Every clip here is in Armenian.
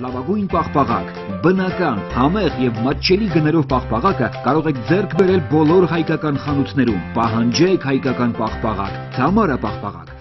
Լավագույն պաղպաղակ, բնական, համեղ եւ մատչելի գներով պաղպաղակը կարող եք ձեռք բերել բոլոր հայկական խանութներում։ Պահանջեք հայկական պաղպաղակ, Թամարա պաղպաղակ։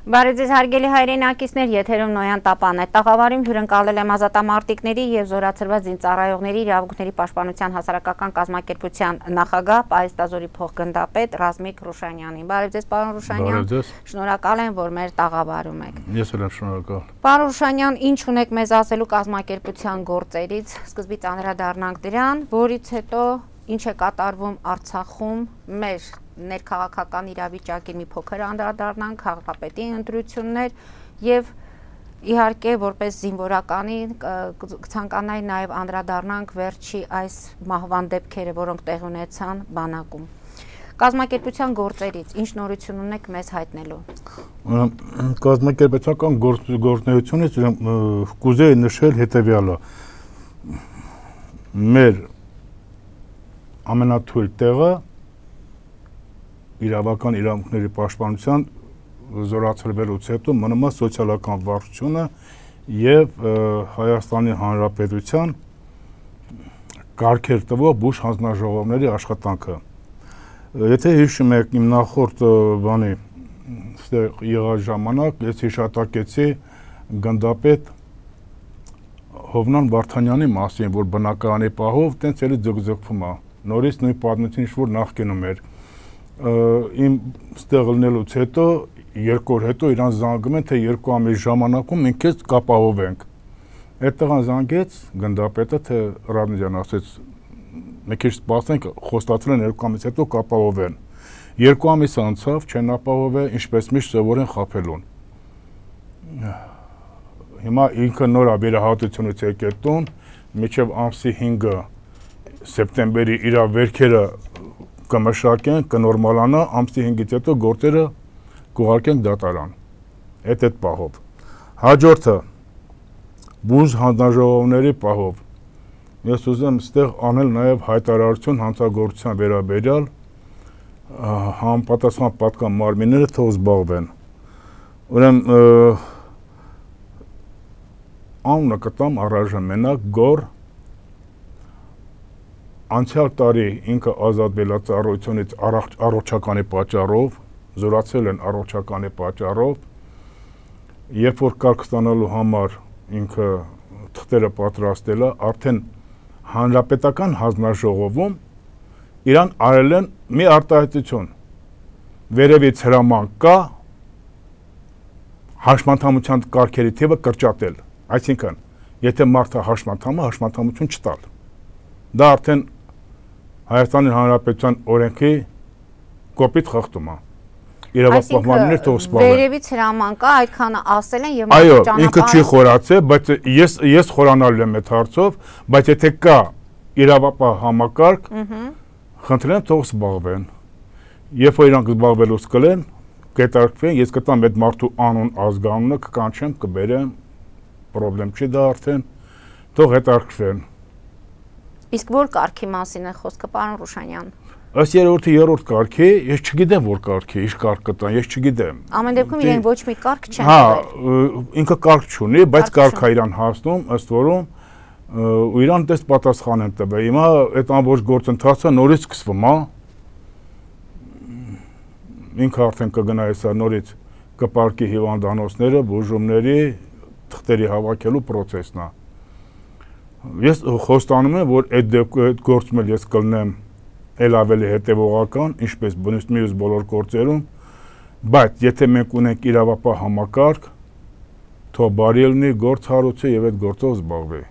Բարև ձեզ հարգելի հայրենակիցներ, եթերում Նոյան տապան է։ Տաղավարում հյուրընկալել եմ ազատամարտիկների եւ զորացրված զինծառայողների իրավունքների պաշտպանության հասարակական կազմակերպության նախագահ Պահեստազորի փոխգնդապետ Ռազմիկ Ռուշանյանին։ Բարև ձեզ, պարոն Ռուշանյան։ Շնորհակալ եմ, որ մեր տաղավարում եք։ Ես էլ եմ շնորհակալ։ Պարոն Ռուշանյան, ինչ ունեք մեզ ասելու կազմակերպության գործերից։ Սկզբից անդրադառնանք դրան, որից հետո ինչ է կատարվում Արցախում մեր ներքաղաքական իրավիճակին մի փոքր անդրադառնանք, քաղաքապետի ընտրություններ եւ իհարկե որպես զինվորականի ցանկանայի նաեւ անդրադառնանք վերջի այս մահվան դեպքերը, որոնք տեղ ունեցան բանակում։ Կազմակերպության գործերից ինչ նորություն ունեք մեզ հայտնելու։ Կազմակերպության գործունեությունից կուզեի նշել հետեւյալը։ Մեր ամենաթույլ տեղը իրավական իրավունքների պաշտպանության զորացրվելուց հետո մնում է սոցիալական վարչությունը եւ Հայաստանի Հանրապետության կարգեր տվող բուժ հանձնաժողովների աշխատանքը։ Եթե հիշում եք իմ նախորդ բանի ստեղ եղած ժամանակ ես հիշատակեցի գնդապետ Հովնան Վարդանյանի մասին, որ բնակարանի պահով տենց էլի ձգձգվում է։ Նորից նույն պատմություն ինչ-որ նախկինում էր։ Իմ ստեղ լնելուց հետո, 2 օր հետո իրան զանգում են, թե 2 ամիս ժամանակում մենք քեզ կապահովենք։ Այդտեղան զանգեց գնդապետը, թե Ռադնիջան ասեց, մենք քեզ սպասենք, խոստացել են 2 ամիս հետո կապահովեն։ 2 ամիս անցավ, չեն ապահովել, ինչպես միշտ սովոր են խաբելուն։ Հիմա ինքը նոր վերահատությունից եկել տուն, մինչև ամսի 5-ը սեպտեմբերի իր վերքերը կմշակեն, կնորմալանա, ամսի 5-ից հետո գործերը կուղարկենք դատարան։ Այդ պահով։ Հաջորդը բուժ հանձնաժողովների պահով։ Ես ուզում ստեղ անել նաև հայտարարություն հանցագործության վերաբերյալ համապատասխան պատկան մարմինները թող զբաղվեն։ Ուրեմն անունը կտամ առայժմենակ Գոր անցյալ տարի ինքը ազատվել է ծառայությունից առողջականի պատճառով, զորացել են առողջականի պատճառով, երբ որ կարգ ստանալու համար ինքը թղթերը պատրաստել է, արդեն հանրապետական հանձնաժողովում իրան արել են մի արտահայտություն, վերևից հրաման կա, հաշմանդամության կարգերի թիվը կրճատել, այսինքն, եթե մարդը հաշմանդամություն չտալ, դա արդեն Հայաստանի Հանրապետության օրենքի կոպիտ խախտում է։ Իրավապահմաններ թող սպառեն։ Վերևից հրաման կա, այդքանը ասել են եւ այո, ինքը չի խորացել, բայց ես խորանալու եմ այդ հարցով, բայց եթե կա իրավապահ համակարգ, խնդրեմ թող զբաղվեն։ Երբ որ իրանք զբաղվելուց կլեն, կհետաքրքրվեն, ես կտամ այդ մարդու անուն, ազգանունը, կկանչեմ, կբերեմ, պրոբլեմ չի դա արդեն, թող հետաքրքրվեն։ Իսկ որ կարգի մասին է խոսքը, պարոն Ռուշանյան։ Ըստ երրորդի երրորդ կարգի, ես չգիտեմ որ կարգի, ինչ կարգ կտան, ես չգիտեմ։ Ամեն դեպքում իրեն ոչ մի կարգ չեն տվել։ Ինքը կարգ չունի, բայց կարգ է իրան հասնում, ըստ որում ու իրան դες պատասխան են տվել։ Հիմա այդ ամբողջ գործընթացը նորից սկսվում է։ ինքը արդեն կգնա հեսա նորից կպարկի հիվանդանոցները, բուժումների, թղթերի հավաքելու պրոցեսն է։ Ես խոստանում եմ, որ այդ գործում էլ ես կլնեմ էլ ավելի հետևողական, ինչպես մյուս բոլոր գործերում, բայց եթե մենք ունենք իրավապահ համակարգ, թող բարի լինի գործ հարուցի եւ այդ գործով զբաղվի։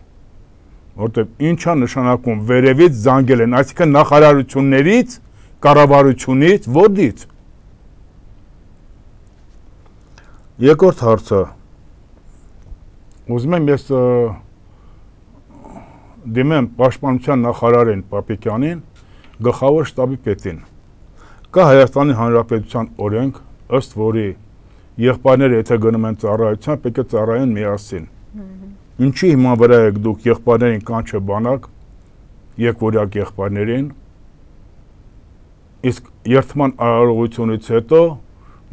Որտեւ ինչա նշանակում վերևից զանգել են, այսինքն նախարարություններից, կառավարությունից, որից։ Երկրորդ հարցը։ Ուզում եմ ես դիմեմ պաշտպանության նախարարին Պապիկյանին, գլխավոր շտաբի պետին։ Կա Հայաստանի Հանրապետության օրենք, ըստ որի եղբայրները եթե գնում են ծառայության, պետք է ծառայեն միասին։ Ինչի հիման վրա եք դուք եղբայրներին կանչը բանակ, երկվորյակ եղբայրներին, իսկ երթման արարողությունից հետո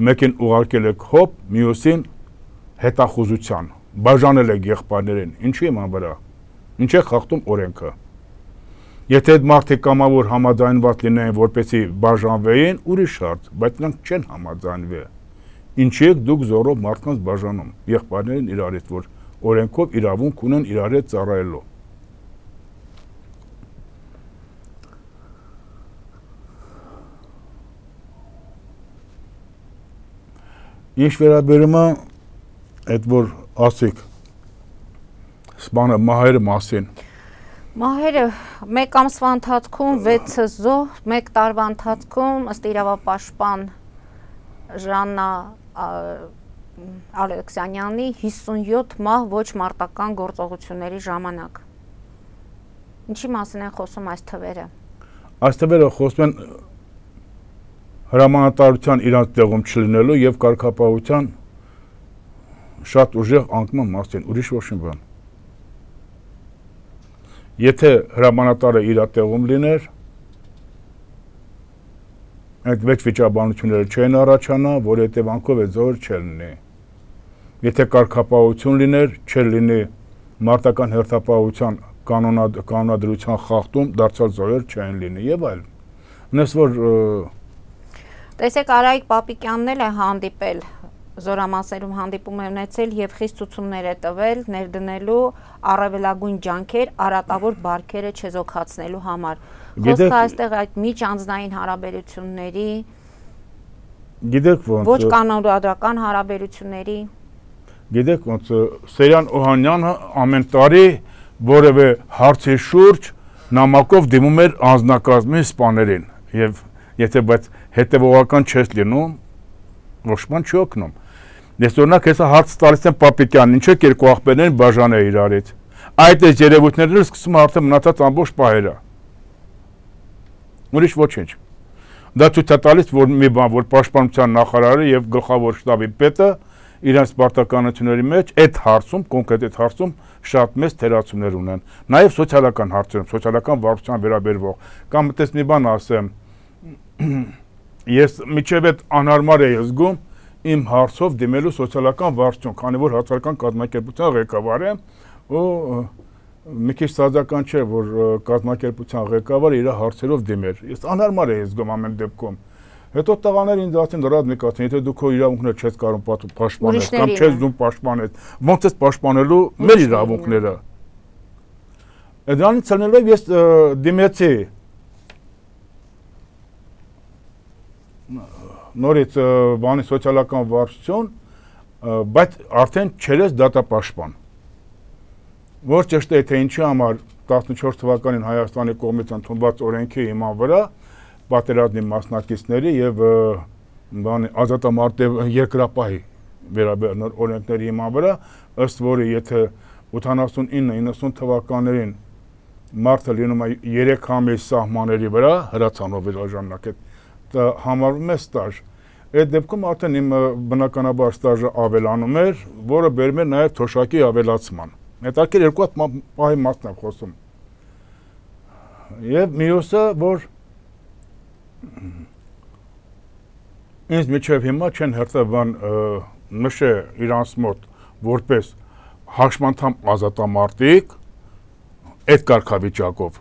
մեկին ուղարկել եք հոպ, մյուսին հետախուզության, բաժանել եք եղբայրներին, ինչի հիման վրա, ինչ է խախտում օրենքը։ Եթե այդ մարդիկ կամավոր համաձայնված լինեին, որպեսզի բաժանվեին, ուրիշ հարց, բայց նրանք չեն համաձայնվի։ Ինչի եք դուք զորով մարդկանց բաժանում, եղբայրներին իրարից, որ օրենքով իրավունք ունեն իրար հետ ծառայելու։ Ինչ վերաբերում է այդ որ ասիկ սպանը մահերը մասին։ Մահերը մեկ ամսվա ընթացքում 6 զոհ, մեկ տարվա ընթացքում ըստ իրավապաշտպան Ժաննա Ալեքսանյանի 57 մահ ոչ մարտական գործողությունների ժամանակ։ Ինչի մասին են խոսում այս թվերը։ Այս թվերը խոսում են հրամանատարության իրանց տեղում չլինելու եւ կարգապահության շատ ուժեղ անկման մասին, ուրիշ ոչ մի բան։ Եթե հրամանատարը իր տեղում լիներ, այդ վեճ վիճաբանությունները չեն առաջանա, որ հետևանքով է զոհեր չլինի։ Եթե կարգապահություն լիներ, չէր լինի մարտական հերթապահության կանոնադրության խախտում, դարձյալ զոհեր չեն լինի եւ այլն։ Ունես որ Տեսեք Արայիկ Պապիկյանն էլ է հանդիպել, զորամասերում հանդիպում է ունեցել եւ խիստ ցուցումներ է տվել ներդնելու առավելագույն ջանքեր արատավոր բարքերը չեզոքացնելու համար։ Խոսքը այստեղ այդ միջանձնային հարաբերությունների, գիտեք ոնց ոչ կանոնադրական հարաբերությունների։ Գիտեք ոնց Սերյան Օհանյանը ամեն տարի որևէ հարցի շուրջ նամակով դիմում էր անձնակազմի սպաներին եւ եթե բայց հետևողական չես լինում, ոչ ման չի օգնում։ Ես օրինակ հեսա հարց տալիս եմ Պապիկյանին, ինչ եք երկու աղբերներին բաժանել իրարից։ Այդ այս երևույթներն սկսում արդեն մնացած ամբողջ պահերը։ Ուրիշ ոչինչ։ Դա ցույց է տալիս, որ մի բան, որ պաշտպանության նախարարը եւ գլխավոր շտաբի պետը իրենց պարտականությունների մեջ այդ հարցում, կոնկրետ այդ հարցում շատ մեծ թերացումներ ունեն։ Նաեւ սոցիալական հարցերում, սոցիալական վարչության վերաբերվող, կամ այդպես մի բան ասեմ, ես միջև այդ անհարմար էի զգում իմ հարցով դիմելու սոցիալական վարչություն, քանի որ հացարական կազմակերպության ղեկավար եմ ու մի քիչ սազական չէ, որ կազմակերպության ղեկավարը իր հարցերով դիմեր։ Ես անհարմար էի զգում ամեն դեպքում։ Հետո տղաները ինձ ասին ռազմիկացին, եթե դու քո իրավունքները չես կարող պաշտպանել կամ չես դու պաշտպանել, ոնց ես պաշտպանելու մեր իրավունքները։ Դրանից ելնելով ես դիմեցի նորից բանի սոցիալական վարչություն, բայց արդեն չերես դատապաշտպան։ Որ ճշտ է, թե ինչի համար 14 թվականին Հայաստանի կողմից ընդունված օրենքի հիման վրա պատերազմի մասնակիցների եւ բանի ազատամարտի երկրապահի վերաբերյալ օրենքների հիման վրա, ըստ որի եթե 89-90 թվականներին մարդը լինում է 3 ամիս սահմանների վրա հրացանով վերաժաննակետ համարվում է ստաժ։ Այդ դեպքում արդեն իմ բնականաբար ստաժը ավելանում էր, որը բերում էր նաև թոշակի ավելացման։ Հետաքրքիր երկու հատ պահի մասն եմ խոսում։ Եվ մյուսը, որ ինձ միջև հիմա չեն հերթաբան նշե իրանց մոտ որպես հաշմանդամ ազատամարտիկ այդ կարգավիճակով,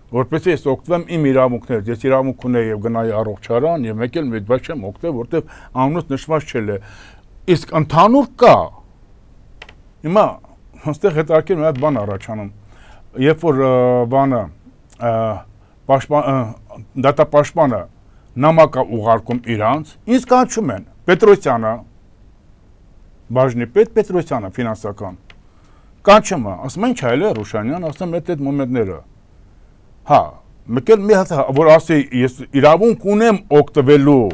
որպեսզի ես օգտվեմ իմ իրավունքներից, ես իրավունք ունեի եւ գնայի առողջարան եւ մեկ էլ բայց չեմ օգտվել, որտեվ անունս նշված չէ։ Իսկ ընդհանուր կա։ Հիմա այստեղ հետաքրքիր մի հատ բան առաջանում։ Երբ որ բանը դատապաշտպանը նամակ ուղարկում իրանց, ինձ կանչում են Պետրոսյանը, բաժնի պետ Պետրոսյանը ֆինանսական։ Կանչում է, ասում են ինչ այլ է Ռուշանյան, ասում եմ այդ մոմենտները։ Հա, մեկ էլ մի հատ որ ասի ես իրավունք ունեմ օգտվելու։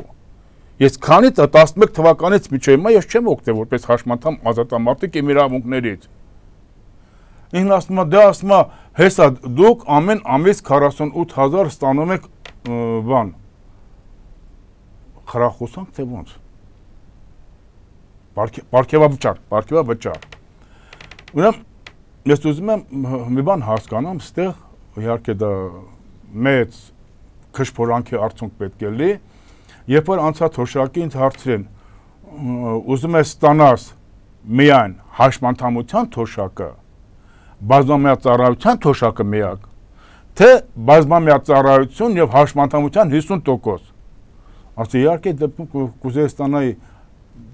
Ես քանից 11 թվականից միջև հիմա ես չեմ օգտվել որպես հաշմանդամ ազատամարտիկ իմ իրավունքներից։ Ինքն ասում է, դե ասում է, հեսա դուք ամեն ամիս 48000 ստանում եք բան։ Խրախուսանք թե ոնց։ Պարգևավճար։ Ուրեմն ես ուզում եմ մի բան հասկանամ, ստեղ իհարկե դա մեծ քշփորանքի արդյունք պետք է լինի, երբ որ անցած հոշակի ինձ հարցրին, ուզում ես ստանաս միայն հաշմանդամության թոշակը, բազմամյա ծառայության թոշակը միակ, թե բազմամյա ծառայություն եւ հաշմանդամության 50%։ Ասի իհարկե դեպքում կուզեի ստանայի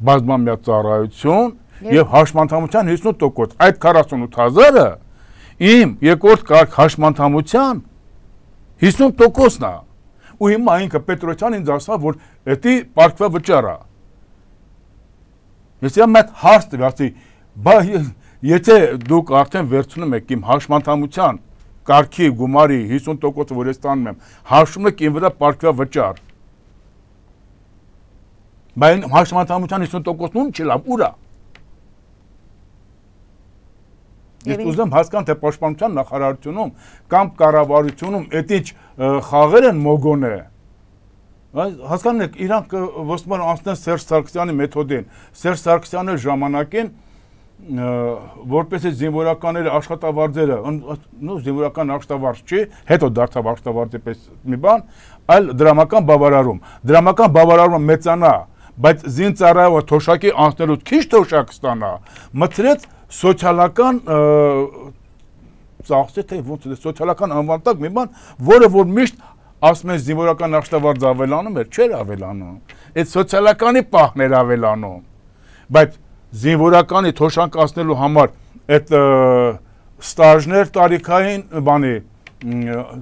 բազմամյա ծառայություն եւ հաշմանդամության 50%, այդ 48000-ը իմ երկրորդ կարգ հաշմանդամության 50%-ն է։ Ու հիմա ինքը Պետրոսյան ինձ ասավ, որ դա պարգևավճար է։ Ես իմ այդ հարց տվեցի, բայց եթե դուք արդեն վերցնում եք իմ հաշմանդամության կարգի գումարի 50%-ը, որ ես ստանում եմ, հաշվում եք իմ վրա պարգևավճար։ Բայց հաշմանդամության 50%-ն ում չի լավ, ուր է։ Ես ուզում հասկանամ, թե պաշտպանության նախարարությունում կամ կառավարությունում այդ ինչ խաղեր են մոգոնե։ Հասկանում եք, իրանք ոսում են անցնեն Սերժ Սարգսյանի մեթոդին։ Սերժ Սարգսյանը ժամանակին որպեսզի զինվորականները աշխատավարձերը, զինվորական աշխատավարձ չի, հետո դարձավ աշխատավարձի պես մի բան, այլ դրամական բավարարում։ Դրամական բավարարումը մեծանա, բայց զինծառայողը թոշակի անցնելուց քիչ թոշակ ստանա, մտցրեց սոցիալական ծախսը թե ոնց է սոցիալական անվտանգ մի բան, որը որ միշտ ասում են զինվորական աշխատավարձ ավելանում էր, չէր ավելանում։ Այդ սոցիալականի պահն էր ավելանում։ Բայց զինվորականի թոշակացնելու համար այդ ստաժներ տարիքային բանի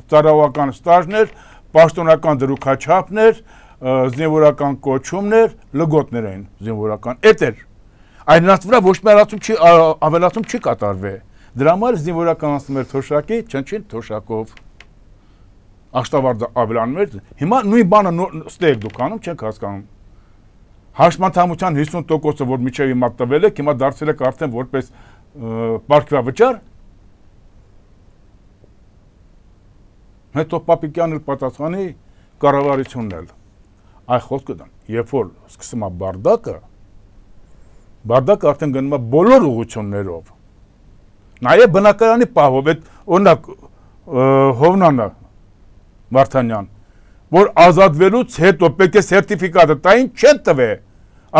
ծառայողական ստաժներ, պաշտոնական դրուքաչափներ, զինվորական կոչումներ, լգոտներ էին զինվորական։ Այդ էր Այն նրանց վրա ոչ մի ավելացում չի կատարվել։ Դրա համար զինվորականացնում էր թոշակի, չնչին թոշակով։ Աշխատավարձը ավելանում էր։ Հիմա նույն բանը ստեղ դուք անում չեք հասկանում։ Հաշմանդամության 50%-ը, որ միջև հիմա տվել եք, հիմա դարձել եք արդեն որպես պարգևավճար։ Հետո Պապիկյանն էլ պատասխանի կառավարությունն էլ։ Այ խոսքը դա, երբ որ սկսում է Բարդակը արդեն գնում է բոլոր ուղղություններով։ Նաև բնակարանի պահով, այդ օրինակ Հովնանը Վարդանյան, որ ազատվելուց հետո պետք է սերտիֆիկատը տային չեն տվել,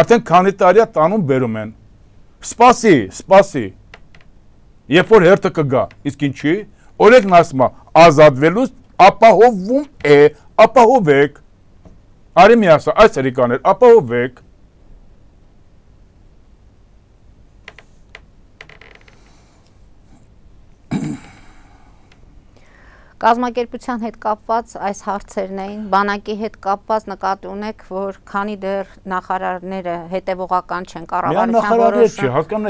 արդեն քանի տարի է տանում բերում են։ Սպասի։ Երբ որ հերթը կգա, իսկ ինչի, օրենքն ասում է ազատվելուց ապահովում է, ապահովեք։ Արի մի ասա, այս հերիկաներ, ապահովեք։ Կազմակերպության հետ կապված այս հարցերն էին, բանակի հետ կապված նկատի ունեք, որ քանի դեռ նախարարները հետևողական չեն կառավարության որոշում։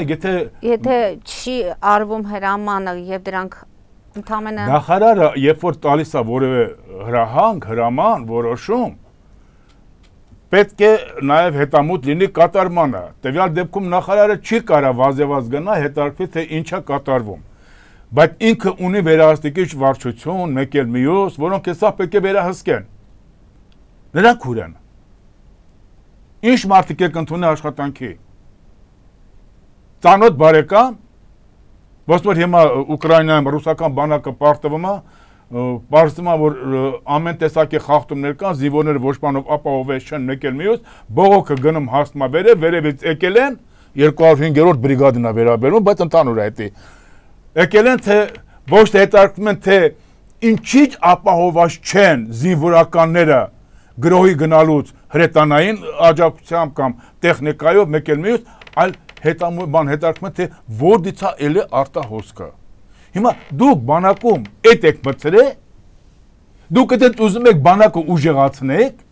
Եթե չի արվում հրամանը եւ դրանք ընդհանրապես նախարարը երբ որ տալիս է որևէ հրաման, որոշում, պետք է նաեւ հետամուտ լինի կատարմանը։ Տվյալ դեպքում նախարարը չի կարող վազեվազ գնա հետարկվի թե ինչա կատարվում։ Բայց ինքը ունի վերահսկիչ վարչություն, մեկ էլ մյուս, որոնք հեսա պետք է վերահսկեն։ Նրանք ուր են։ Ինչ մարդիկ եք ընդունել աշխատանքի։ Ծանոթ բարեկամ, ոստ որ հիմա Ուկրաինայում ռուսական բանակը պարտվում է, պարզվում է, որ ամեն տեսակի խախտումներ կան, զինվորները ոչ բանով ապահովված չեն, մեկ էլ մյուս, բողոքը գնում հասնում է վերևից եկել են 205-րդ բրիգադին է վերաբերում, բայց ընդհանուր է դա։ Եկել են թե ոչ թե հետարկվում են թե ինչի՞չ ապահովված չեն զինվորականները գրոհի գնալուց հրետանային աջակցությամբ կամ տեխնիկայով մեկ էլ մյուս, այլ հետարկում թե որտեղից է էլի արտահոսքը։ Հիմա դուք բանակում էդ եք մտցրել, դուք այդ ուզում եք բանակը ուժեղացնեք,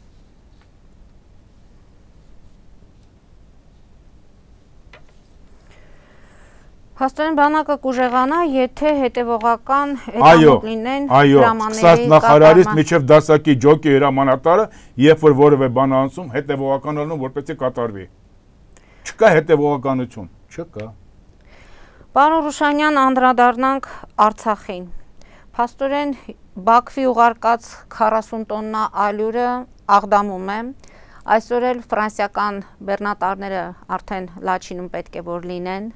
Փաստորեն բանակը կուժեղանա, եթե հետևողական հետամուտ լինեն հրամանների նախարարից միջև դասակի ջոկի հրամանատարը, երբ որ որևէ բան անցում, հետևողական անում, որպեսզի կատարվի։ Չկա հետևողականություն, չկա։ Պարոն Ռուշանյան, անդրադառնանք Արցախին։ Փաստորեն Բաքվի ուղարկած 40 տոննա ալյուրը Աղդամում է։ Այսօր էլ ֆրանսիական բեռնատարները արդեն Լաչինում պետք է որ լինեն։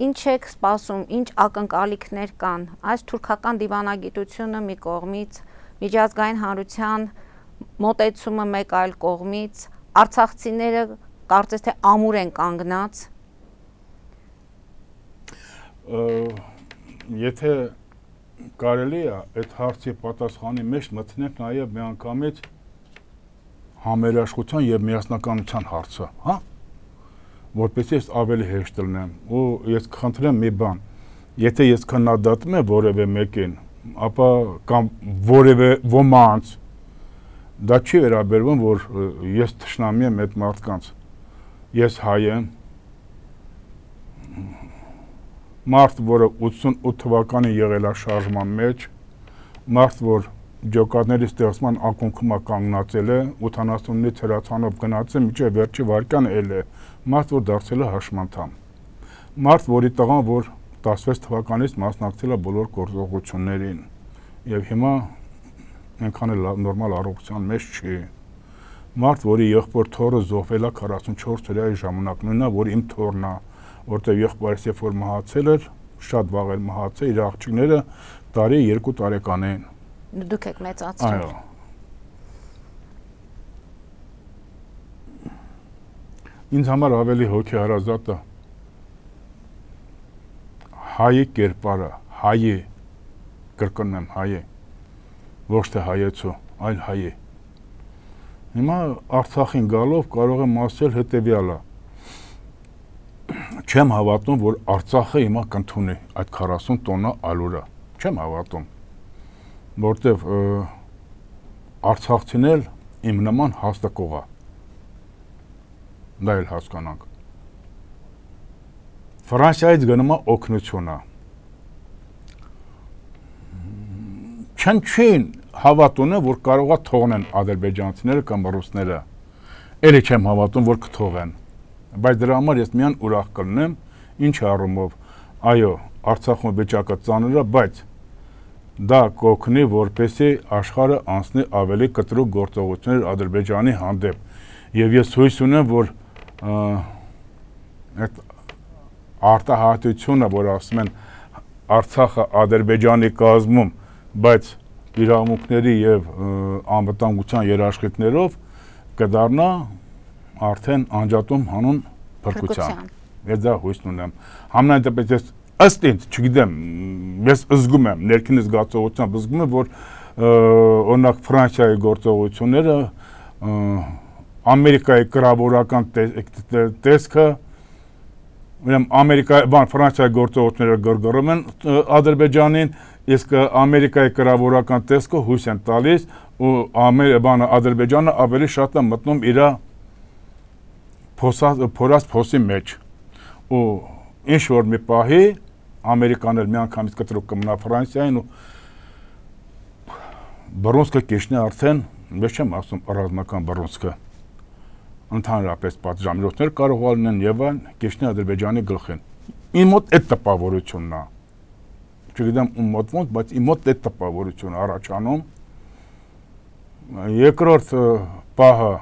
Ինչ եք սպասում, ինչ ակնկալիքներ կան, այս թուրքական դիվանագիտությունը մի կողմից, միջազգային հանրության մոտեցումը մեկ այլ կողմից, արցախցիները կարծես թե ամուր են կանգնած։ Եթե կարելի է այդ հարցի պատասխանի մեջ մտնենք նաև միանգամից համերաշխության եւ միասնականության հարցը, հա? Որպեսզի ես ավելի հեշտ լինեմ, ու ես կխնդրեմ մի բան, եթե ես քննադատում եմ որևէ մեկին, ապա կամ որևէ ոմանց, դա չի վերաբերվում, որ ես թշնամի եմ այդ մարդկանց, ես հայ եմ, մարդ, որը 88 թվականին եղել է շարժման մեջ, մարդ, որ ջոկատների ստեղծման ակունքում կանգնացել է, 79-ից հրացանով գնացել, մինչև վերջի վարկյանը էլ է, մարդ, որ դարձել է հաշմանդամ, մարդ, որի տղան, որ 16 թվականից մասնակցել է բոլոր գործողություններին, եւ հիմա այնքան էլ նորմալ առողջության մեջ չի, մարդ, որի եղբոր թոռը զոհվել է 44 օրյայի ժամանակ, նույնը, որ իմ թոռն է, որտեղ եղբայրս երբ որ մահացել էր, շատ վաղ էլ մահացել, իր աղջիկները տարի 2 տարեկան են։ Դուք եք մեծացրել։ Այո։ Ինձ համար ավելի հոգեհարազատը հայի կերպարը, հայի, կրկնում եմ հայի, ոչ թե հայեցու, այլ հայի։ Հիմա Արցախին գալով կարող եմ ասել հետևյալը. չեմ հավատում, որ Արցախը հիմա կընդունի այդ 40 տոննա ալյուրը, չեմ հավատում, որտեվ արցախցին էլ իմ նման հաստակող է, դա էլ հասկանանք։ Ֆրանսիայից գնում է օգնությունը։ Չնչին հավատ ունեմ, որ կարող է թողնեն ադրբեջանցիները կամ ռուսները, էլի չեմ հավատում, որ կթողեն, բայց դրա համար ես միան ուրախ կլինեմ, ինչ առումով, այո, Արցախում վիճակը ծանր է, բայց դա կօգնի, որպեսզի աշխարհը անցնի ավելի կտրուկ գործողություններ Ադրբեջանի հանդեպ։ Եվ ես հույս ունեմ, որ այդ արտահայտությունը, որ ասում են Արցախը Ադրբեջանի կազմում, բայց իրավունքների եւ անվտանգության երաշխիքներով կդառնա արդեն անջատում հանուն փրկության։ Ես դա հույս ունեմ։ Համենայն դեպս ես ըստ ինձ, չգիտեմ, ես զգում եմ, ներքին զգացողությամբ զգում եմ, որ օրինակ Ֆրանսիայի գործողությունները, Ամերիկայի կրավորական տեսքը, Ֆրանսիայի գործողությունները գրգռում են Ադրբեջանին, իսկ Ամերիկայի կրավորական տեսքը հույս են տալիս, ու Ադրբեջանը ավելի շատ է մտնում իր փորած փոսի մեջ, ու ինչ որ մի պահի Ամերիկան էլ միանգամից կտրուկ կմնա Ֆրանսիային ու բռունցքը կիջնի արդեն, ես չեմ ասում ռազմական բռունցքը, ընդհանրապես պատժամիջոցներ կարող լինեն եւ այլն, կիջնի Ադրբեջանի գլխին։ Իմ մոտ այդ տպավորությունն է։ Չգիտեմ ում մոտ ոնց, բայց իմ մոտ այդ տպավորությունն է առաջանում։ Երկրորդ պահը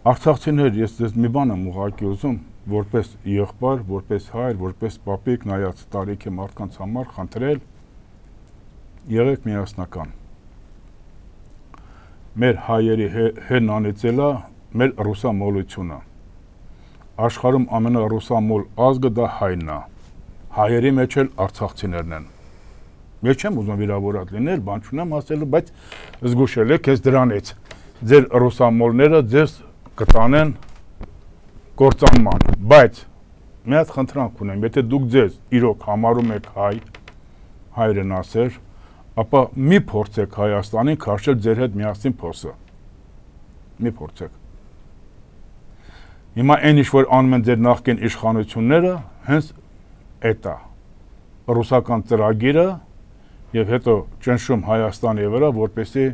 Արցախցիներ, ես դες մի բան եմ ուղղակի ուզում, որպես եղբայր, որպես հայր, որպես պապիկ, նայած տարիքի մարդկանց համար խնդրել, եղեք միասնական։ Մեր հայերի հեն անիծելա մեր ռուսամոլությունը։ աշխարհում ամենառուսամոլ ազգը դա հայն է։ Հայերի մեջ էլ արցախցիներն են։ Ես չեմ ուզում վիրավորած լինել, բան չունեմ ասելու, բայց զգուշել եք ես դրանից։ Ձեր ռուսամոլները ձեզ կտանեն կործանման, բայց մի հատ խնդրանք ունեմ, եթե դուք ձեզ իրոք համարում եք հայրեն ասեր, ապա մի փորձեք Հայաստանին քաշել ձեր հետ միասին փոսը։ Մի փորձեք։ Հիմա այն ինչ որ անում են ձեր նախկին իշխանությունները, հենց այդ է։ Ռուսական ծրագիրը եւ հետո ճնշում Հայաստանի վրա, որպեսզի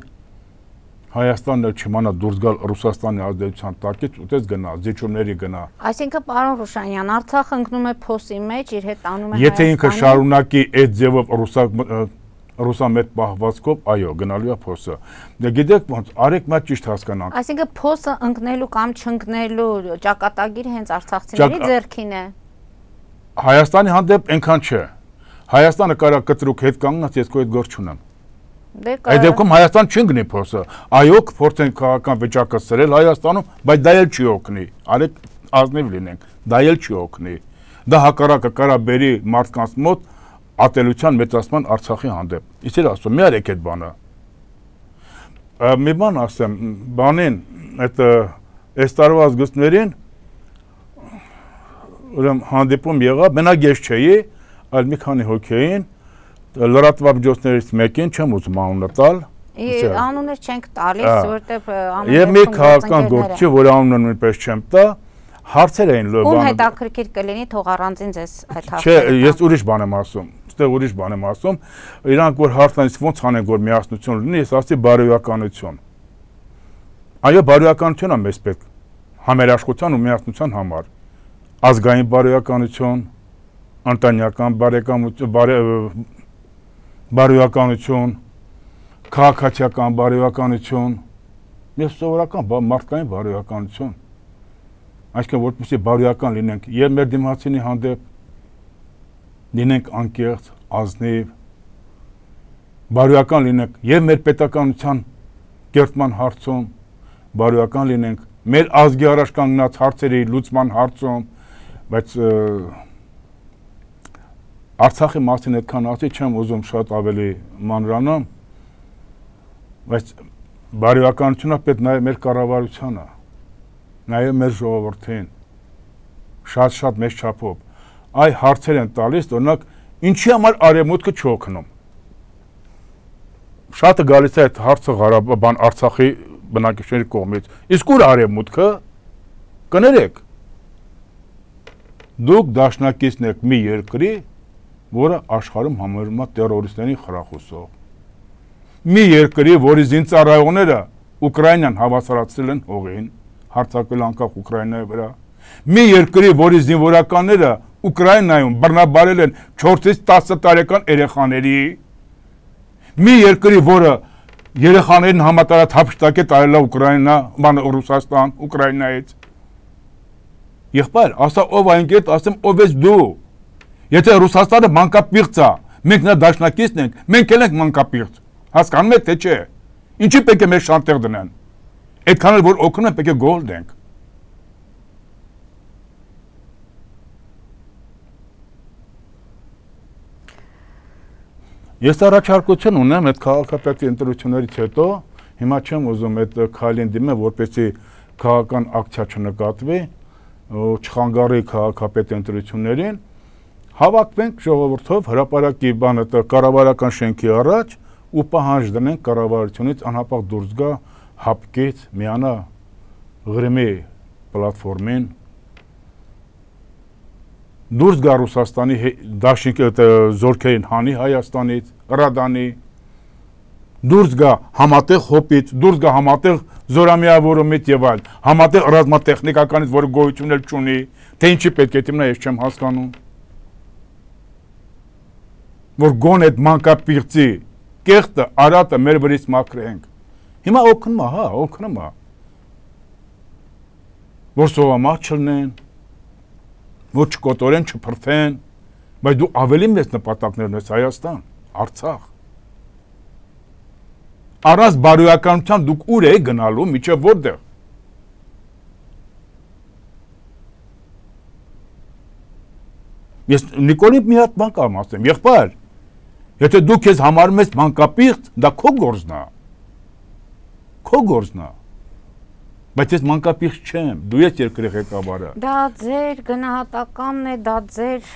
Հայաստանն չիմանա դուրս գալ Ռուսաստանի ազդեցության տակից, ուտես գնա, զիջումների գնա։ Այսինքն, պարոն Ռուշանյան, Արցախը ընկնում է փոսի մեջ, իր հետ տանում է Եթե ինքը շարունակի այդ ձևով ռուսամետ պահվածքով, այո, գնալու է փոսը։ Դե գիտեք ոնց, արեք մա ճիշտ հասկանանք։ Այսինքն, փոսը ընկնելու կամ չընկնելու ճակատագիրը հենց արցախցիների ձեռքին է։ Հայաստանի հանդեպ այնքան չէ։ Հայաստանը կարա կտրուկ հետ կանգնած, ես քո այդ գործ չունեմ։ Այդ դեպքում Հայաստան չընկնի փոսը։ Այո, կփորձեն քաղաքական վիճակը սրել Հայաստանում, բայց դա էլ չի օգնի։ Արեք ազնիվ լինենք, դա էլ չի օգնի։ Դա հակառակը կարա բերի մարդկանց մոտ ատելության մեծացման Արցախի հանդեպ։ Իսեր ասում, մի արեք այդ բանը։ Մի բան ասեմ, բանին, այս տարվա ազգուստներին հանդիպում եղավ, մենակ ես չէի, այլ մի քանի հոգեին, լրատվամիջոցներից մեկին, չեմ ուզում անունը տալ։ Անուններ չենք տալիս, որտեղ Եվ մի քաղաքական գործի, որ անունը նույնպես չեմ տա, հարցեր էին Ում հետաքրքիր կլինի, թող առանձին ձեզ այդ հարցերը։ Չէ, ես ուրիշ բան եմ ասում, ստեղ ուրիշ բան եմ ասում, իրանք որ հարցնից ոնց անենք, որ միասնություն լինի, ես ասի բարոյականություն։ Այո, բարոյականություն է մեզ պետք, համերաշխության ու միասնության համար, ազգային բարոյականություն, ընտանեկան բարոյականություն, քաղաքացիական բարոյականություն, եւ սովորական մարդկային բարոյականություն։ Այսինքն որպեսզի բարոյական լինենք եւ մեր դիմացինի հանդեպ, լինենք անկեղծ, ազնիվ, բարոյական լինենք եւ մեր պետականության կերտման հարցում, բարոյական լինենք մեր ազգի առաջ կանգնած հարցերի լուծման հարցում, բայց Արցախի մասին այդքան ասի չեմ ուզում շատ ավելի մանրանամ, բայց բարոյականությունը պետք նաեւ մեր կառավարությանը, նաեւ մեր ժողովրդին, շատ մեծ չափով, այ հարցեր են տալիս, օրինակ, ինչի համար արևմուտքը չօգնում։ Շատը գալիս է այդ հարցը Ղարաբաղ Արցախի բնակիչների կողմից, իսկ ուր արևմուտքը, կներեք, դուք դաշնակիցն եք մի երկրի, որը աշխարհում համարվում է տերորիստների խրախուսող։ Մի երկրի, որի զինծառայողները Ուկրաինան հավասարացրել են հողին, հարձակվել անկախ Ուկրաինայի վրա։ Մի երկրի, որի զինվորականները Ուկրաինայում բռնաբարել են 4-ից 10 տարեկան երեխաների։ Մի երկրի, որը երեխաներին համատարած հափշտակ է տարել Ուկրաինա, Ռուսաստան, Ուկրաինայից։ Եղբայր, ասա ով այն կետ, ասեմ ով ես դու։ Եթե Ռուսաստանը մանկապիղծ է, մենք նա դաշնակիցն ենք, մենք էլ ենք մանկապիղծ, հասկանում եք թե չէ, ինչի պետք է մեր շանտեղ դնեն, այդքան էլ որ օգնում են պետք է գոհ լինենք։ Ես առաջարկություն ունեմ այդ քաղաքապետի ընտրություններից հետո, հիմա չեմ ուզում այդ քայլին դիմել, որպեսզի քաղաքական ակցիա չնկատվի, չխանգարի քաղաքապետի ընտրություններին, հավաքվենք ժողովրդով հրապարակի բանը կառավարական շենքի առաջ ու պահանջ դնենք կառավարությունից անհապաղ դուրս գա հապկից միանա Ղրիմի պլատֆորմին դուրս գա Ռուսաստանի դաշինքի զորքերին հանի Հայաստանից, Ռադանի, դուրս գա համատեղ հոպից, դուրս գա համատեղ զորամիավորումից եւ այլ, համատեղ ռազմատեխնիկականից, որը գոյություն էլ չունի, թե ինչի պետք է դիմնա, ես չեմ հասկանում։ Որ գոն այդ մանկապիղծի կեղտը, արատը մեր վրից մաքրենք։ Հիմա օգնում է, հա, օգնում է։ Որ սովամահ չլնեն, որ չկոտորեն, չփրթեն, բայց դու ավելի մեծ նպատակներ ունես Հայաստան, Արցախ։ Առանց բարոյականության դուք ուր եք գնալու, միջև որտեղ։ Ես Նիկոլին մի հատ բան կամ ասեմ, եղբայր, եթե դու քեզ համարում ես մանկապիղծ, դա քո գործն է։ Քո գործն է։ Բայց ես մանկապիղծ չեմ, դու ես երկրի ղեկավարը։ Դա ձեր գնահատականն է, դա ձեր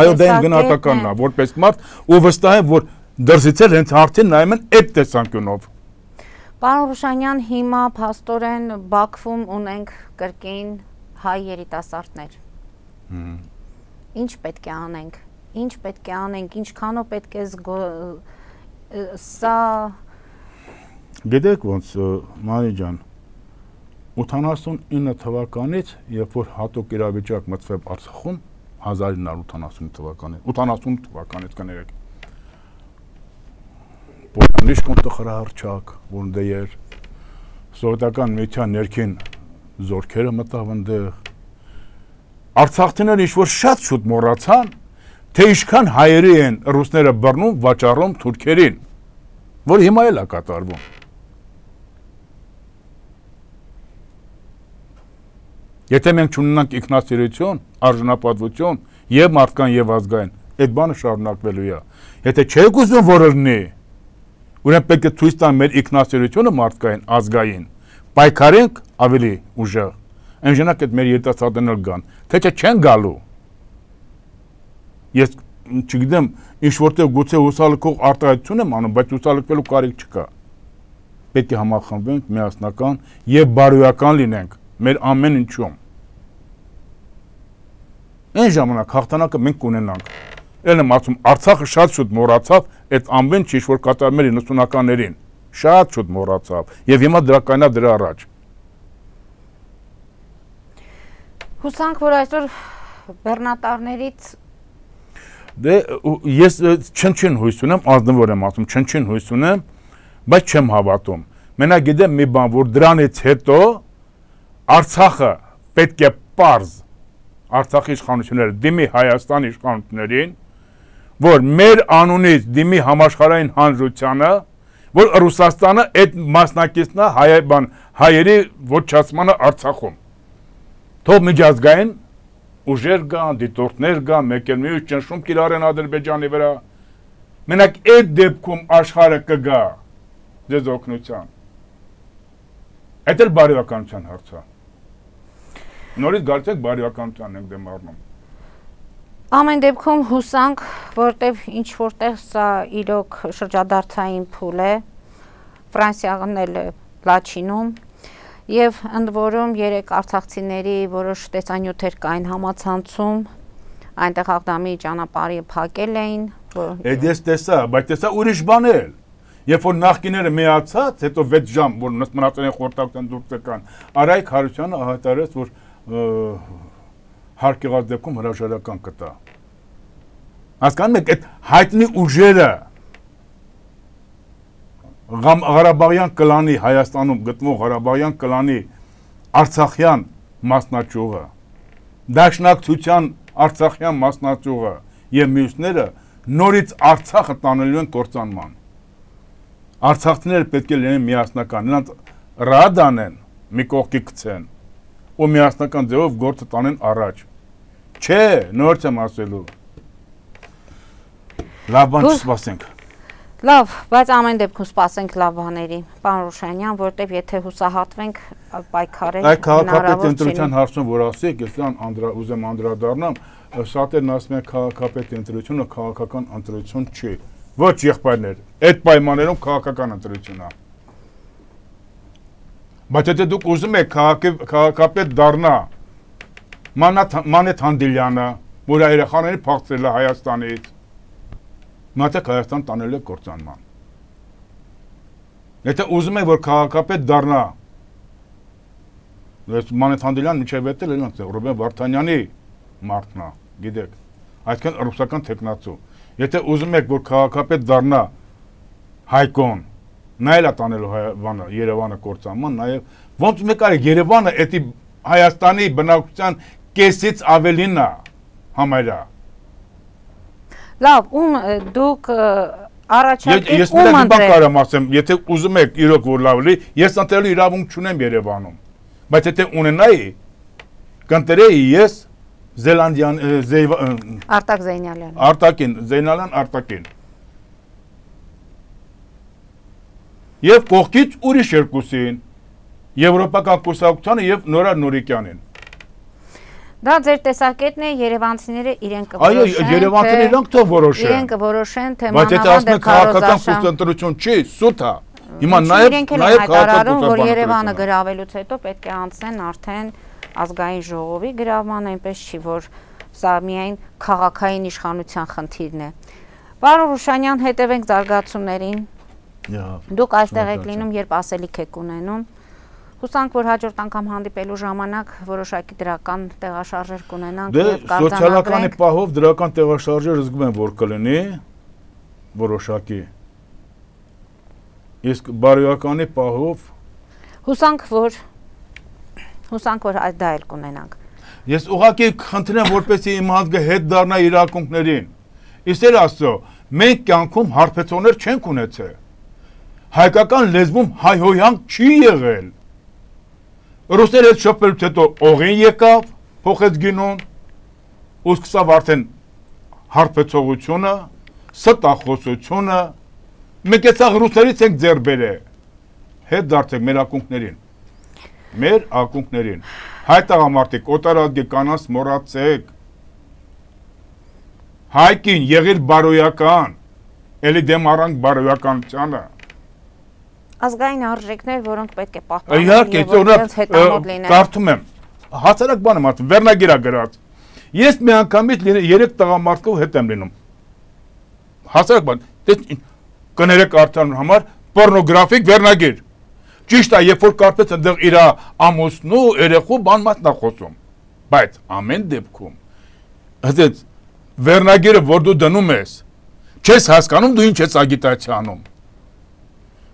Այո, դա իմ գնահատականն է, որպես մարդ, ու վստահ եմ, որ դրսից էլ հենց արդեն նայում են այդ տեսանկյունով։ Պարոն Ռուշանյան, հիմա փաստորեն Բաքվում ունենք կրկին հայ երիտասարդներ։ Ինչ պետք է անենք։ Ինչ պետք է անենք, ինչքանով պետք է սա Գիտեք ոնց Մարի ջան 89 թվականից երբ որ հատուկ իրավիճակ մտցվեց Արցախում 1980 թվականին 88 թվականից կներեք Պոլանիշ կոնտխրահարչակ ոնդեր սովետական միության ներքին զորքերը մտավ այնտեղ Արցախցիները ինչ որ շատ շուտ մոռացան թե ինչքան հայերի են ռուսները բռնում վաճառում թուրքերին որ հիմա էլ է կատարվում Եթե մենք չունենանք ինքնասիրություն, արժանապատվություն եւ մարդկային եւ ազգային, այդ բանը շարունակվելու է։ Եթե չեք ուզում որ լինի, ուրեմն պետք է ցույց տան մեր ինքնասիրությունը մարդկային, ազգային, պայքարենք ավելի ուժեղ։ Այնժանակ այդ մեր երիտասարդներն գան, թե չեն գալու։ Ես չգիտեմ, ինչ որտեղ գուցե հուսալքող արտահայտություն եմ անում, բայց հուսալքվելու կարիք չկա։ Պետք է համախմբենք, միասնական եւ բարոյական լինենք մեր ամեն ինչում։ Այն ժամանակ հաղթանակը մենք կունենանք։ Էլ եմ ասում, Արցախը շատ շուտ մոռացավ այդ ամեն ինչ, որ կատարում էր 90-ականներին։ Շատ շուտ մոռացավ եւ հիմա դրա կայնա դրա առաջ։ Հուսանք, որ այսօր բեռնատարներից Դե ես չնչին հույս ունեմ, ազնվոր եմ ասում, չնչին հույս ունեմ, բայց չեմ հավատում։ Մենակ գիտեմ մի բան, որ դրանից հետո Արցախը պետք է պարզ Արցախի իշխանությունները դիմի Հայաստանի իշխանություններին, որ մեր անունից դիմի համաշխարհային հանրությանը, որ Ռուսաստանը այդ մասնակիցն է հայերի ոչնչացմանը Արցախում։ Թող միջազգային ուժեր կան, դիտորդներ կան, մեկ էլ մյուս ճնշում կիրառեն Ադրբեջանի վրա։ Մենակ այդ դեպքում աշխարհը կգա ձեզ օգնության։ Այդ էլ բարոյականության հարց է։ Նորից գարցեք բարոյականությանն ենք դեմ առնում։ Ամեն դեպքում հուսանք, որտեվ ինչ որտեղ սա իրոք շրջադարձային փուլ է, Ֆրանսիան էլ Լաչինում, եւ ընդ որում 3 արցախցիների որոշ տեսանյութեր կային համացանցում, այնտեղ Աղդամի ճանապարհի փակել էին, Այդ ես տեսա, բայց տեսա ուրիշ բան էլ։ Երբ որ նախկիները միացած, հետո 6 ժամ, որ մնացել են խորհրդակցության դուրս եկան, Արայք Հարությունյանը հայտարարեց, որ հարկ եղած դեպքում հրաժարական կտա։ Հասկանում եք, այդ հայտնի ուժերը Ղարաբաղյան կլանի Հայաստանում գտնվող Ղարաբաղյան կլանի Արցախյան մասնաճյուղը, Դաշնակցության Արցախյան մասնաճյուղը եւ մյուսները նորից Արցախը տանելու են կործանման։ Արցախցիները պետք է լինեն միասնական, նրանց ռադ անեն, մի կողքի գցեն ու միասնական ձևով գործը տանեն առաջ։ Չէ, նորից եմ ասելու։ Լավ բան չսպասենք։ Լավ, բայց ամեն դեպքում սպասենք լավ բաների, պարոն Ռուշանյան, որտեվ եթե հուսահատվենք պայքարել Այդ քաղաքապետ ընտրության հարցում, որ ասեք, ես ուզեմ անդրադառնամ, շատերն ասում են քաղաքապետ ընտրությունը քաղաքական ընտրություն չի։ Ոչ եղբայրներ, այդ պայմաններում քաղաքական ընտրություն է։ Բայց եթե դուք ուզում եք քաղաքապետ դառնա Մանեթ Հանդիլյանը, որ երեխաներին փախցրել է Հայաստանից, մատեք Հայաստան տանել է կործանման։ Եթե ուզում եք, որ քաղաքապետ դառնա Մանեթ Հանդիլյան միջև էտել են Ռուբեն Վարդանյանի մարդն է, գիտեք, այսքան ռուսական թեկնածու։ Եթե ուզում եք, որ քաղաքապետ դառնա Հայկոն, նա էլ է տանելու Երևանը կործանման, նաև ոնց մեկ արեք Երևանը էդի Հայաստանի բնակչության կեսից ավելին է համարյա։ Լավ, դուք առաջարկեք Ես մի բան կարամ ասեմ, եթե ուզում եք իրոք որ լավ լինի, ես ընտրելու իրավունք չունեմ Երևանում, բայց եթե ունենայի, կընտրեի ես Զելանդյան Արտակ Զեյնալյան։ Արտակին, Զեյնալյան Արտակին։ Եվ կողքից ուրիշ երկուսին, Եվրոպական կուսակցությանը եւ Նորա Նուրիկյանին։ Դա ձեր տեսակետն է, երևանցիները իրենք կորոշեն։ Այո, երևանցիները իրենք թող որոշեն։ Իրենք կորոշեն, թե բայց եթե ասում եք քաղաքական կուսակցություն չի, սուտ է։ Հիմա նաեւ հայտարարում, որ Երևանը գրավելուց հետո պետք է անցնեն արդեն ազգային ժողովի գրավման, այնպես չի, որ սա միայն քաղաքային իշխանության խնդիրն է։ Պարոն Ռուշանյան, հետևենք զարգացումներին։ Դուք այստեղ եք լինում, երբ ասելիք եք ունենում։ Հուսանք, որ հաջորդ անգամ հանդիպելու ժամանակ որոշակի դրական տեղաշարժեր կունենանք եւ կարձանագրենք։ Սոցիալականի պահով դրական տեղաշարժեր զգում եմ, որ կլինի որոշակի։ Իսկ բարոյականի պահով հուսանք, որ այդ դա էլ կունենանք։ Ես ուղղակի խնդրեմ, որպեսզի իմ ազգը հետ դառնա իր ակունքներին։ Իսեր Աստծո, մենք կյանքում հարբեցողներ չենք ունեցել։ Հայկական լեզվում հայհոյանք չի եղել։ Ռուսները հետ շփվելուց հետո օղին եկավ, փոխեց գինուն, ու սկսավ արդեն հարբեցողությունը, ստախոսությունը, մենք էցաղ ռուսներից ենք ձեռ բերել, հետ դարձեք մեր ակունքներին, հայ տղամարդիկ, օտարազգի կանանց մոռացեք, հայկին եղիր բարոյական, էլի դեմ առանք բարոյականությանը, ազգային արժեքներ, որոնք պետք է պահպանեն եւ որոնց հետամոտ լինեն։ Կարդում եմ, հասարակ բան եմ ասում, վերնագիր է գրած։ Ես մի անգամից 3 տղամարդկով հետ եմ լինում։ Հասարակ բան, կներեք արդեն համար պորնոգրաֆիկ վերնագիր։ Ճիշտ է, երբ որ կարծես այնտեղ իր ամուսնու, երեխու բան մատնա խոսում։ Բայց ամեն դեպքում ասած վերնագիրը, որ դու դնում ես, չես հասկանում դու ինչ ես ագիտացիա անում։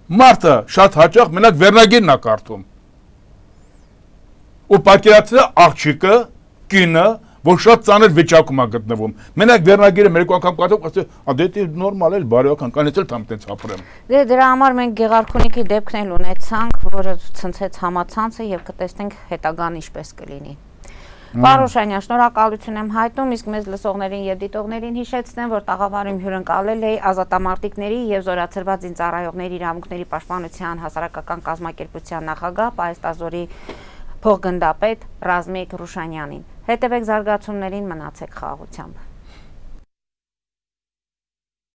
Մարդը շատ հաճախ մենակ վերնագիրն է կարդում։ Ու պատկերացրեք աղջիկը, կինը, որ շատ ծանր վիճակում է գտնվում։ Մենակ վերնագիրը մեկ անգամ կարդում, ասում, դե նորմալ էլ բարոյական, կանից էլ թամ տենց ապրեմ։ Դե դրա համար մենք Գեղարքունիքի դեպքն էլ ունեցանք, որը ցնցեց համացանցը եւ կտեսնենք հետագան ինչպես կլինի։ Պարոն Ռուշանյան, շնորհակալություն եմ հայտնում, իսկ մեզ լսողներին եւ դիտողներին հիշեցնեմ, որ տաղավարում հյուրընկալել էի ազատամարտիկների եւ զորացրված զինծառայողների իրավունքների պաշտպանության հասարակական կազմակերպության նախագահ Պայեստազորի փոխգնդապետ Ռազմիկ Ռուշանյանին։ Հետևեք զարգացումներին, մնացեք խաղաղությամբ։